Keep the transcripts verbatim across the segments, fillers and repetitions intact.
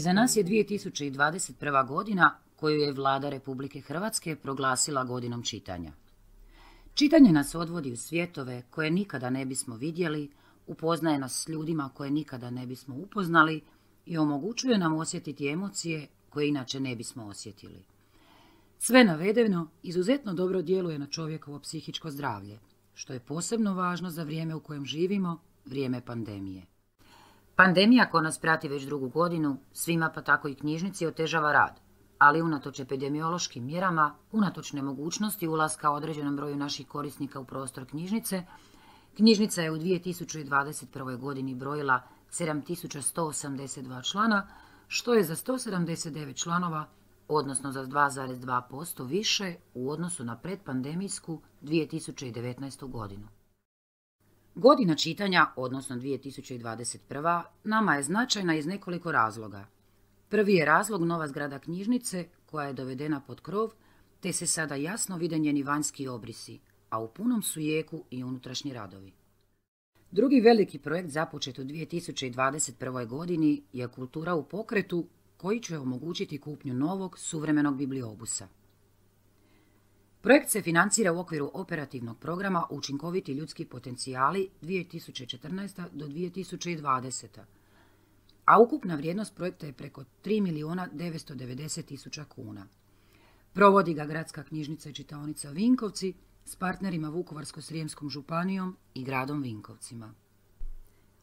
Iza nas je dvije tisuće dvadeset prva. godina koju je Vlada Republike Hrvatske proglasila godinom čitanja. Čitanje nas odvodi u svjetove koje nikada ne bismo vidjeli, upoznaje nas s ljudima koje nikada ne bismo upoznali i omogućuje nam osjetiti emocije koje inače ne bismo osjetili. Sve navedeno izuzetno dobro djeluje na čovjekovo psihičko zdravlje, što je posebno važno za vrijeme u kojem živimo, vrijeme pandemije. Pandemija koja nas prati već drugu godinu, svima pa tako i knjižnici otežava rad, ali unatoč epidemiološkim mjerama, unatoč nemogućnosti ulaska određenom broju naših korisnika u prostor knjižnice, knjižnica je u dvije tisuće dvadeset prvoj. godini brojila sedam tisuća sto osamdeset dva člana, što je za sto sedamdeset devet članova, odnosno za dva zarez dva posto više u odnosu na predpandemijsku dvije tisuće devetnaestu. godinu. Godina čitanja, odnosno dvije tisuće dvadeset prva. nama je značajna iz nekoliko razloga. Prvi je razlog nova zgrada knjižnice koja je dovedena pod krov, te se sada jasno vide njeni vanjski obrisi, a u punom su jeku i unutrašnji radovi. Drugi veliki projekt započet u dvije tisuće dvadeset prvoj. godini je Kultura u pokretu, koji će omogućiti kupnju novog, suvremenog bibliobusa. Projekt se financira u okviru operativnog programa Učinkoviti ljudski potencijali dvije tisuće četrnaesta. do dvije tisuće dvadeseta. a ukupna vrijednost projekta je preko tri milijuna devetsto devedeset tisuća kuna. Provodi ga Gradska knjižnica i čitaonica Vinkovci s partnerima Vukovarsko-srijemskom županijom i gradom Vinkovcima.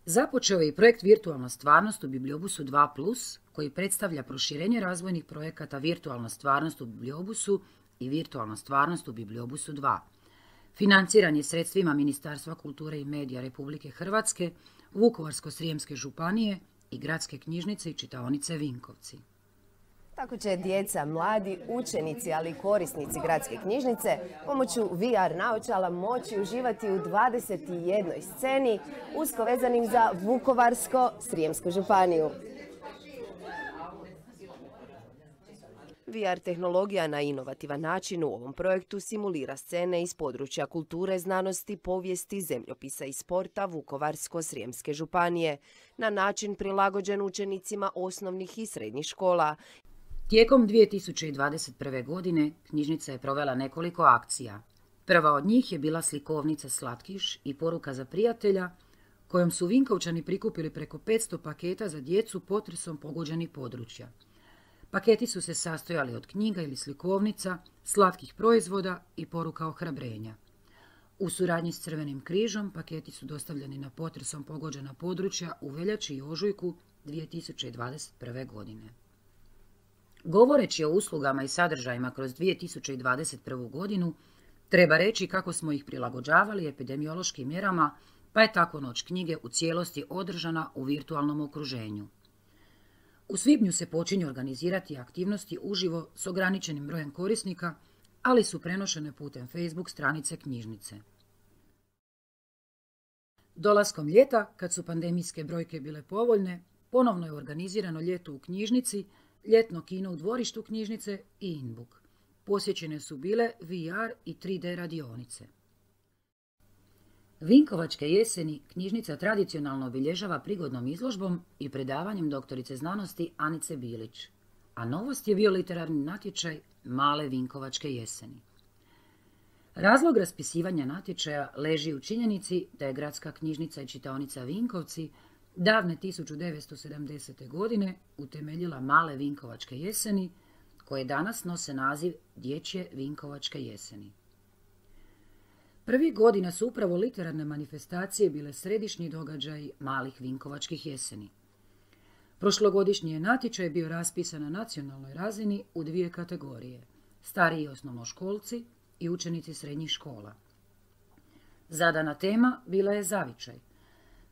Započeo je i projekt Virtualna stvarnost u Bibliobusu dva plus, koji predstavlja proširenje razvojnih projekata Virtualna stvarnost u Bibliobusu i Virtualna stvarnost u Bibliobusu dva. Financiran je sredstvima Ministarstva kulture i medija Republike Hrvatske, Vukovarsko-srijemske županije i Gradske knjižnice i čitaonice Vinkovci. Tako će djeca, mladi, učenici, ali i korisnici Gradske knjižnice pomoću V R naočala moći uživati u dvadeset jednoj sceni usko vezanim za Vukovarsko-srijemsku županiju. V R tehnologija na inovativan način u ovom projektu simulira scene iz područja kulture, znanosti, povijesti, zemljopisa i sporta Vukovarsko-srijemske županije na način prilagođen učenicima osnovnih i srednjih škola. Tijekom dvije tisuće dvadeset prve. godine knjižnica je provela nekoliko akcija. Prva od njih je bila slikovnica Slatkiš i poruka za prijatelja, kojom su Vinkovčani prikupili preko petsto paketa za djecu potresom pogođenih područja. Paketi su se sastojali od knjiga ili slikovnica, slatkih proizvoda i poruka ohrabrenja. U suradnji s Crvenim križom paketi su dostavljeni na potresom pogođena područja u veljači i ožujku dvije tisuće dvadeset prve. godine. Govoreći o uslugama i sadržajima kroz dvije tisuće dvadeset prvu. godinu, treba reći kako smo ih prilagođavali epidemiološkim mjerama, pa je tako Noć knjige u cijelosti održana u virtualnom okruženju. U svibnju se počinju organizirati aktivnosti uživo s ograničenim brojem korisnika, ali su prenošene putem Facebook stranice knjižnice. Dolaskom ljeta, kad su pandemijske brojke bile povoljne, ponovno je organizirano ljeto u knjižnici, ljetno kino u dvorištu knjižnice i in-book. Posjećene su bile V R i tri D radionice. Vinkovačke jeseni knjižnica tradicionalno obilježava prigodnom izložbom i predavanjem doktorice znanosti Anice Bilić, a novost je bio literarni natječaj Male Vinkovačke jeseni. Razlog raspisivanja natječaja leži u činjenici da je Gradska knjižnica i čitaonica Vinkovci davne tisuću devetsto sedamdesete. godine utemeljila Male Vinkovačke jeseni, koje danas nose naziv Dječje Vinkovačke jeseni. Prvih godina su upravo literarne manifestacije bile središnji događaj Malih Vinkovačkih jeseni. Prošlogodišnji je natječaj bio raspisan na nacionalnoj razini u dvije kategorije – stariji osnovnoškolci i učenici srednjih škola. Zadana tema bila je zavičaj.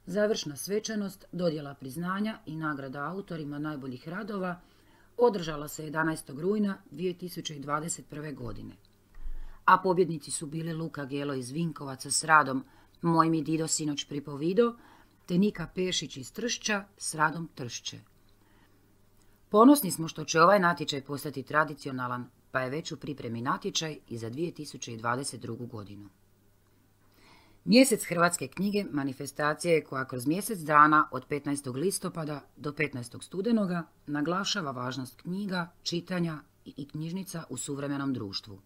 Završna svečanost, dodjela priznanja i nagrada autorima najboljih radova održala se jedanaestog rujna dvije tisuće dvadeset prve. godine. A pobjednici su bili Luka Gelo iz Vinkovaca s radom Moj mi Dido sinoć pripovido, te Nika Pešić iz Tršća s radom Tršće. Ponosni smo što će ovaj natječaj postati tradicionalan, pa je već u pripremi natječaj i za dvije tisuće dvadeset drugu. godinu. Mjesec hrvatske knjige manifestacija je koja kroz mjesec dana od petnaestog listopada do petnaestog studenoga naglašava važnost knjiga, čitanja i knjižnica u suvremenom društvu.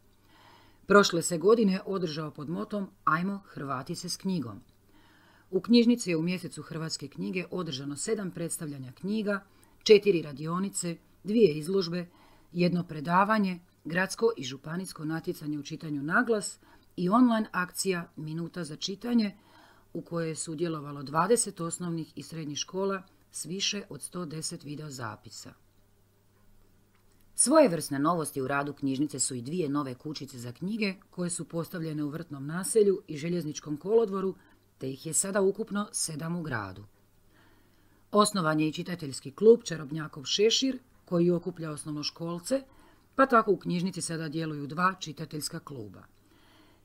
Prošle se godine održao pod motom Ajmo Hrvati se s knjigom. U knjižnici je u mjesecu hrvatske knjige održano sedam predstavljanja knjiga, četiri radionice, dvije izložbe, jedno predavanje, gradsko i županijsko natjecanje u čitanju naglas i online akcija Minuta za čitanje u kojoj je sudjelovalo dvadeset osnovnih i srednjih škola s više od sto deset video zapisa. Svojevrsne novosti u radu knjižnice su i dvije nove kućice za knjige koje su postavljene u Vrtnom naselju i Željezničkom kolodvoru, te ih je sada ukupno sedam u gradu. Osnovan je i čitateljski klub Čarobnjakov šešir koji okuplja osnovnoškolce, pa tako u knjižnici sada djeluju dva čitateljska kluba.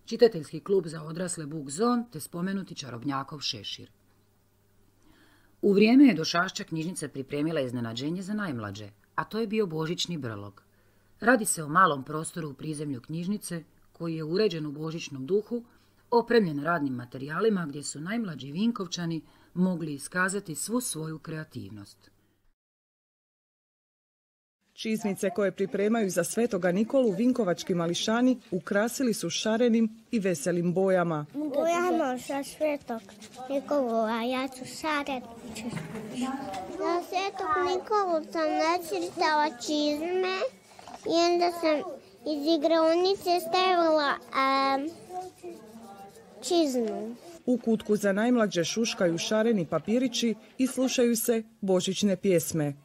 Čitateljski klub za odrasle Book Zone te spomenuti Čarobnjakov šešir. U vrijeme je Došašća knjižnica pripremila iznenađenje za najmlađe, a to je bio božićni brlog. Radi se o malom prostoru u prizemlju knjižnice koji je uređen u božićnom duhu, opremljen radnim materijalima gdje su najmlađi Vinkovčani mogli iskazati svu svoju kreativnost. Čizmice koje pripremaju za Svetoga Nikolu vinkovački mališani ukrasili su šarenim i veselim bojama. Bojamo za Svetog Nikolu, a ja ću šaren. Za Svetog Nikolu sam nacrtala čizme i onda sam iz igraonice stavila um, čizmu. U kutku za najmlađe šuškaju šareni papirići i slušaju se božićne pjesme.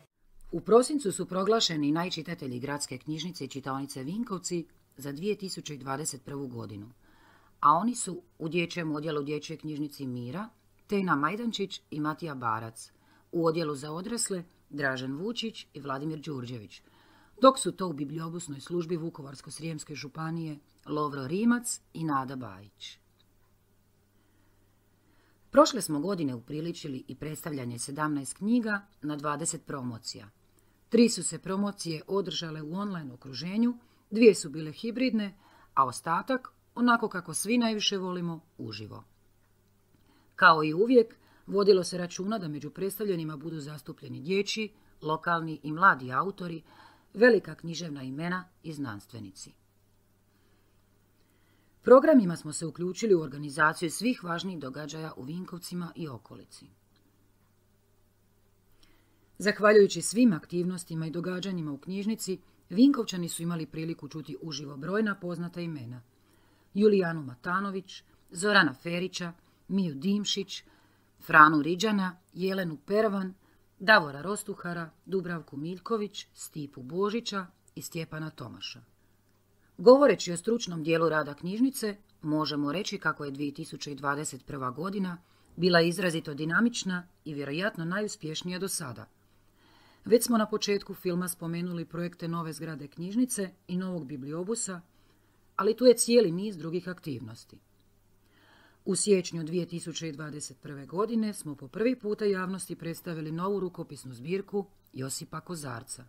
U prosincu su proglašeni najčitatelji gradske knjižnice i čitaonice Vinkovci za dvije tisuće dvadeset prvu. godinu, a oni su u dječjem odjelu dječje knjižnici Mira, Tena Majdančić i Matija Barac, u odjelu za odrasle Dražen Vučić i Vladimir Đurđević, dok su to u bibliobusnoj službi Vukovarsko-srijemske županije Lovro Rimac i Nada Bajić. Prošle smo godine upriličili i predstavljanje sedamnaest knjiga na dvadeset promocija. Tri su se promocije održale u online okruženju, dvije su bile hibridne, a ostatak, onako kako svi najviše volimo, uživo. Kao i uvijek, vodilo se računa da među predstavljenima budu zastupljeni dječji, lokalni i mladi autori, velika književna imena i znanstvenici. Programima smo se uključili u organizaciju svih važnijih događaja u Vinkovcima i okolici. Zahvaljujući svim aktivnostima i događanjima u knjižnici, Vinkovčani su imali priliku čuti uživo brojna poznata imena. Julijanu Matanović, Zorana Ferića, Miju Dimšić, Franu Riđana, Jelenu Pervan, Davora Rostuhara, Dubravku Miljković, Stipu Božića i Stjepana Tomaša. Govoreći o stručnom dijelu rada knjižnice, možemo reći kako je dvije tisuće dvadeset prva. godina bila izrazito dinamična i vjerojatno najuspješnija do sada. Već smo na početku filma spomenuli projekte nove zgrade knjižnice i novog bibliobusa, ali tu je cijeli niz drugih aktivnosti. U siječnju dvije tisuće dvadeset prve. godine smo po prvi puta javnosti predstavili novu rukopisnu zbirku Josipa Kozarca.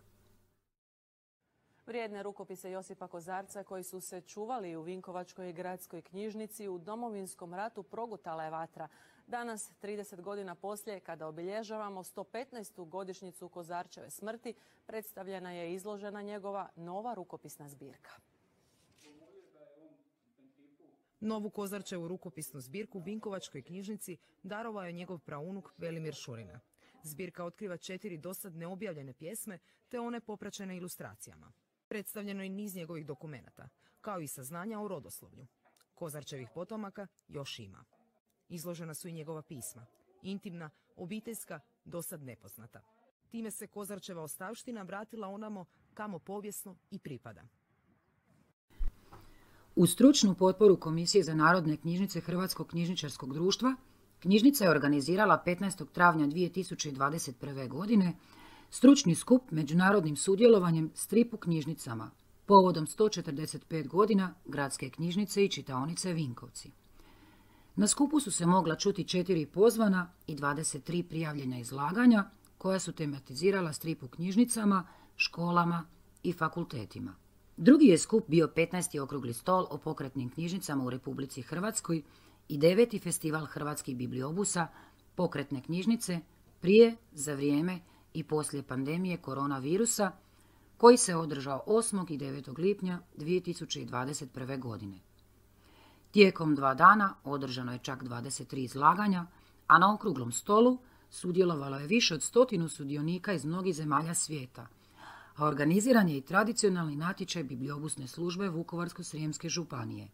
Vrijedne rukopise Josipa Kozarca koji su se čuvali u Vinkovačkoj gradskoj knjižnici u Domovinskom ratu progutala je vatra. Danas, trideset godina poslije, kada obilježavamo sto petnaestu godišnjicu Kozarčeve smrti, predstavljena je izložena njegova nova rukopisna zbirka. Novu Kozarčevu rukopisnu zbirku Vinkovačkoj knjižnici darovao je njegov praunuk Velimir Šurina. Zbirka otkriva četiri dosad neobjavljene pjesme te one popraćene ilustracijama. Predstavljeno je niz njegovih dokumenata, kao i saznanja o rodoslovlju. Kozarčevih potomaka još ima. Izložena su i njegova pisma, intimna, obiteljska, dosad nepoznata. Time se Kozarčeva ostavština vratila onamo kamo povijesno i pripada. U stručnu potporu Komisije za narodne knjižnice Hrvatskog knjižničarskog društva, knjižnica je organizirala petnaestog travnja dvije tisuće dvadeset prve. godine stručni skup međunarodnim sudjelovanjem Strip u knjižnicama, povodom sto četrdeset pet godina Gradske knjižnice i čitaonice Vinkovci. Na skupu su se mogla čuti četiri pozvana i dvadeset tri prijavljena izlaganja koja su tematizirala strip u knjižnicama, školama i fakultetima. Drugi je skup bio petnaesti okrugli stol o pokretnim knjižnicama u Republici Hrvatskoj i deveti festival hrvatskih bibliobusa pokretne knjižnice prije, za vrijeme i poslije pandemije koronavirusa koji se održao osmog i devetog lipnja dvije tisuće dvadeset prve. godine. Tijekom dva dana održano je čak dvadeset tri izlaganja, a na okruglom stolu sudjelovalo je više od stotinu sudionika iz mnogih zemalja svijeta, a organiziran je i tradicionalni natječaj bibliobusne službe Vukovarsko-srijemske županije.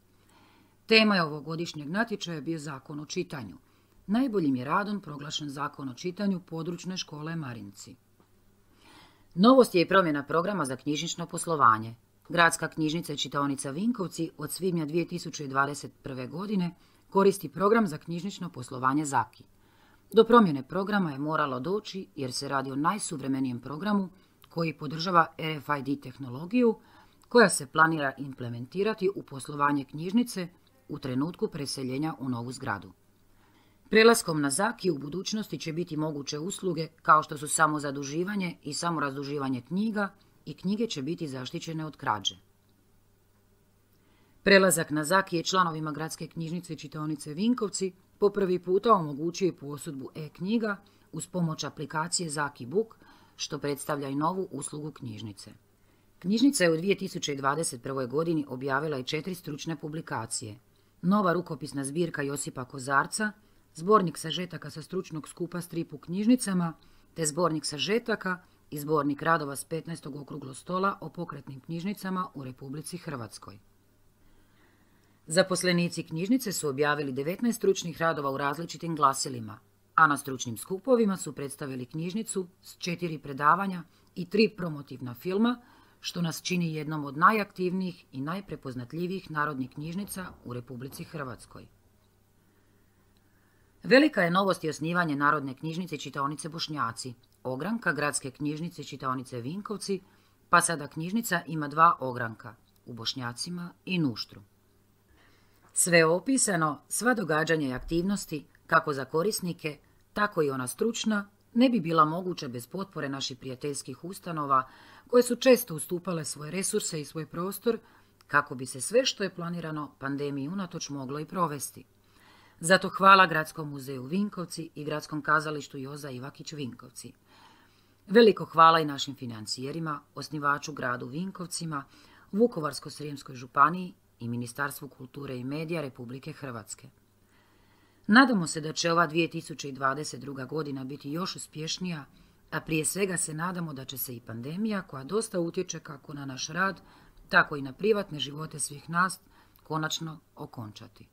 Tema je ovogodišnjeg natječaja bio Zakon o čitanju. Najboljim je radom proglašen Zakon o čitanju područne škole Marinci. Novost je i promjena programa za knjižnično poslovanje. Gradska knjižnica i čitaonica Vinkovci od svibnja dvije tisuće dvadeset prve. godine koristi program za knjižnično poslovanje Zaki. Do promjene programa je moralo doći jer se radi o najsuvremenijem programu koji podržava R F I D tehnologiju koja se planira implementirati u poslovanje knjižnice u trenutku preseljenja u novu zgradu. Prelaskom na Zaki u budućnosti će biti moguće usluge kao što su samozaduživanje i samorazduživanje knjiga i knjige će biti zaštićene od krađe. Prelazak na Zaki je članovima Gradske knjižnice i čitaonice Vinkovci po prvi puta omogućuje posudbu e-knjiga uz pomoć aplikacije Zaki Book, što predstavlja i novu uslugu knjižnice. Knjižnica je u dvije tisuće dvadeset prvoj. godini objavila i četiri stručne publikacije. Nova rukopisna zbirka Josipa Kozarca, zbornik sažetaka sa stručnog skupa Strip u knjižnicama, te zbornik sažetaka i zbornik radova s petnaestog okruglog stola o pokretnim knjižnicama u Republici Hrvatskoj. Zaposlenici knjižnice su objavili devetnaest stručnih radova u različitim glasilima, a na stručnim skupovima su predstavili knjižnicu s četiri predavanja i tri promotivna filma, što nas čini jednom od najaktivnijih i najprepoznatljivijih narodnih knjižnica u Republici Hrvatskoj. Velika je novost i osnivanje Narodne knjižnice i čitaonice Bošnjaci, ogranka Gradske knjižnice i čitaonice Vinkovci, pa sada knjižnica ima dva ogranka, u Bošnjacima i Nuštru. Sve opisano, sva događanja i aktivnosti, kako za korisnike, tako i ona stručna, ne bi bila moguća bez potpore naših prijateljskih ustanova, koje su često ustupale svoje resurse i svoj prostor, kako bi se sve što je planirano pandemiji unatoč moglo i provesti. Zato hvala Gradskom muzeju Vinkovci i Gradskom kazalištu Joza Ivakić Vinkovci. Veliko hvala i našim financijerima, osnivaču gradu Vinkovcima, Vukovarsko-srijemskoj županiji i Ministarstvu kulture i medija Republike Hrvatske. Nadamo se da će ova dvije tisuće dvadeset druga. godina biti još uspješnija, a prije svega se nadamo da će se i pandemija, koja dosta utječe kako na naš rad, tako i na privatne živote svih nas, konačno okončati.